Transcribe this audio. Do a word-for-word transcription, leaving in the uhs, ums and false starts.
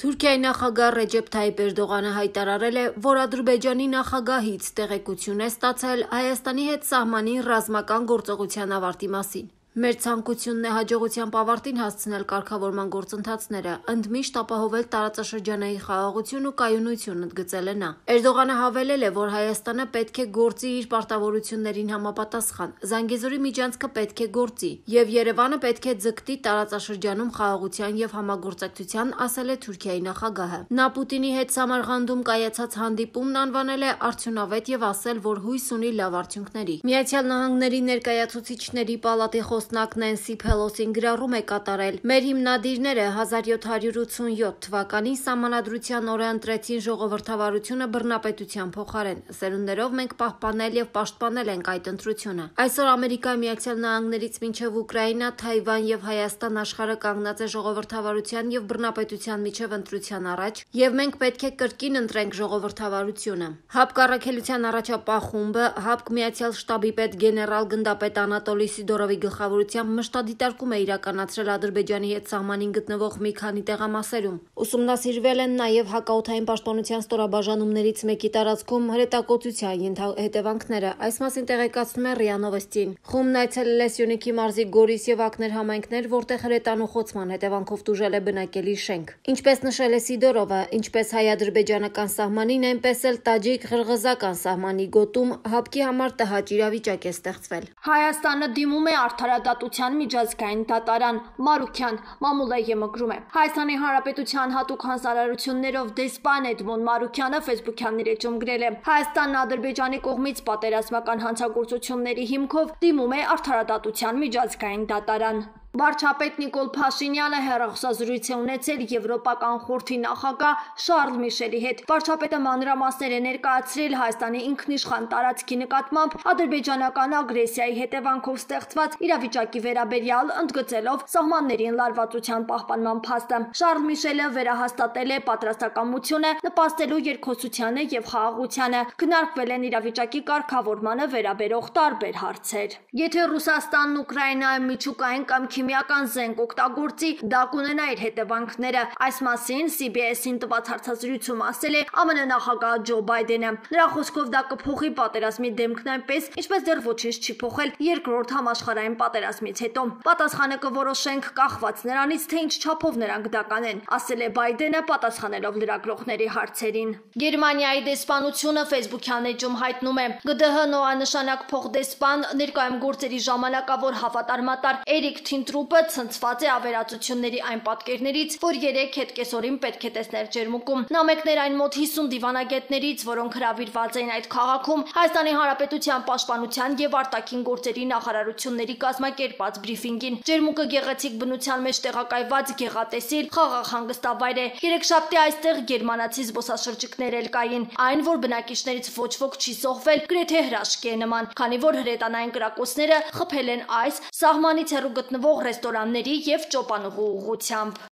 Թուրքիայի նախագահ Ռեջեփ Թայիփ Էրդողանը հայտարարել է, որ Ադրբեջանի նախագահից տեղեկություն է ստացել Հայաստանի հետ սահմանի ռազմական գործողության ավարտի մասին։ Մեր ցանկությունն է հաջողությամբ ավարտին հասցնել կարգավորման գործընթացները, ընդմիշտ ապահովել տարածաշրջանային խաղաղություն ու կայունություն, ընդգծել է նա։ Էրդողանը հավելել է, որ Հայաստանը պետք է գործի իր պարտավորություններին համապատասխան, Զանգեզուրի միջանցքը պետք է գործի, եւ Երևանը պետք է ձգտի տարածաշրջանում խաղաղության եւ համագործակցության, ասել է Թուրքիայի նախագահը։ Նա Պուտինի հետ Սամարղանդում կայացած հանդիպումն անվանել է արդյունավետ եւ ասել, որ հույս ունի լավ արդյունքների։ Միացյալ Նահանգների ներկայացուցիչների պալատի խոսնակ Նենսի Փելոսին գրառում է կատարել. «Մեր հիմնադիրները հազար յոթ հարյուր ութսունյոթ թվականին Սահմանադրության օրը ընտրեցին ժողովրդավարությունը բռնապետության փոխարեն։ Սերունդներով մենք պահպանել եւ պաշտպանել ենք այդ ընտրությունը։ Այսօր Ամերիկայի Միացյալ Նահանգներից մինչև Ուկրաինա, Թայվան եւ Հայաստան աշխարհը կանգնած է ժողովրդավարության եւ բռնապետության միջև ընտրության առաջ, եւ մենք պետք է կրկին ընտրենք ժողովրդավարությունը»։ ՀԱՊԿ առաքելության առաջապահ խումբը ՀԱՊԿ Միացյալ շտաբի պետ գեներալ գնդապետ Անատոլի Սիդորովի գլխավորությամբ մշտադիտարկում է իրականացրել Ադրբեջանի հետ սահմանին գտնվող մի քանի տեղամասերում։ Ուսումնասիրվել են նաև հակաօդային պաշտպանության ստորաբաժանումներից մեկի տարածքում հրետակոծության հետևանքները։ Այս մասին տեղեկացնում է ՌԻԱ Նովոստին։ Խումբն այցելել է Սյունիքի մարզի Գորիս եւ Ակներ համայնքներ, որտեղ հրետանուխոցման հետևանքով տուժել է բնակելի շենք։ Ինչպես նշել է Սիդորովը, ինչպես հայ-ադրբեջանական սահմանին, այնպես էլ տաջիկ-ղրղզական սահմանի գոտում ՀԱՊԿ-ի համար տհաճ իրավիճակ է ստեղծվել։ Հայաստանը դիմում է Արդարադատության միջազգային դատարան, Մարուքյան Մամուլեյը մգրում է։ Հայաստանի Հանրապետության հատուկ հանձնարարություններով դեսպան Էդմոն Մարուքյանը ֆեյսբուքյան իր էջում գրել է. Հայաստանն Ադրբեջանի կողմից պատերազմական հանցագործությունների հիմքով դիմում է Արդարադատության միջազգային դատարան։ Վարչապետ Նիկոլ Փաշինյանը հեռախոսազրույց է ունեցել Եվրոպական խորհրդի նախագահ Շարլ Միշելի հետ։ Վարչապետը մանրամասներ է ներկայացրել Հայաստանի ինքնիշխան տարածքի նկատմամբ ադրբեջանական ագրեսիայի հետևանքով ստեղծված իրավիճակի վերաբերյալ, ընդգծելով սահմաններին լարվածության պահպանման փաստը։ Շարլ Միշելը վերահաստատել է պատրաստակամությունը նպաստելու երկխոսությանը եւ խաղաղությանը, քննարկվել են իրավիճակի կարգավորմանը վերաբերող տարբեր հարցեր։ Եթե Ռուսաստանն Ուկրաինայում միջուկային կամ քիմիական զենք օգտագործի, դա կունենա իր հետևանքները։ Այս մասին C B S-ին տված հարցազրույցում ասել է ԱՄՆ նախագահ Ջո Բայդենը։ Նրա խոսքով դա կփոխի պատերազմի դեմքն այնպես, ինչպես դեռ ոչինչ չի փոխել երկրորդ համաշխարհային պատերազմից հետո։ Պատասխանը կորոշենք կախված նրանից, թե ինչ չափով նրանք դա կանեն, ասել է Բայդենը, պատասխանելով լրագրողների հարցերին։ Գերմանիայի դեսպանությունը ֆեյսբուքյան էջում հայտնում է. G D H նորանշանակ փոխդեսպան ներկայում գործերի ժամանակավոր հավատարմատար Էրիկ Թինտրուպը ցնցված է ավերածությունների այն պատկերներից, որ երեք հետ կեսօրին պետք է տեսներ ջերմուկում։ Նա մեկներ այն մոտ հիսուն դիվանագետներից, որոնք հրավիրված էին այդ քաղաքում, Հայաստանի Հանրապետության պաշտպանության եւ արտաքին գործերի նախարարությունների կազմակերպած բրիֆինգին։ Ջերմուկը գեղեցիկ բնության մեջ տեղակայված գեղատեսիլ խաղաղ հանգստավայր է։ Երեքշաբթի այստեղ գերմանացի զբոսաշրջիկներ էլ կային։ Այն, որ բնակիչներից ոչ ոք չի զոհվել, գրեթե հրաշքի է նման, քանի որ հրետանային կրակոցները խփել են այս սահմանից հեռու գտնվող ռեստորանների եւ ճոպանուղու ուղղությամբ։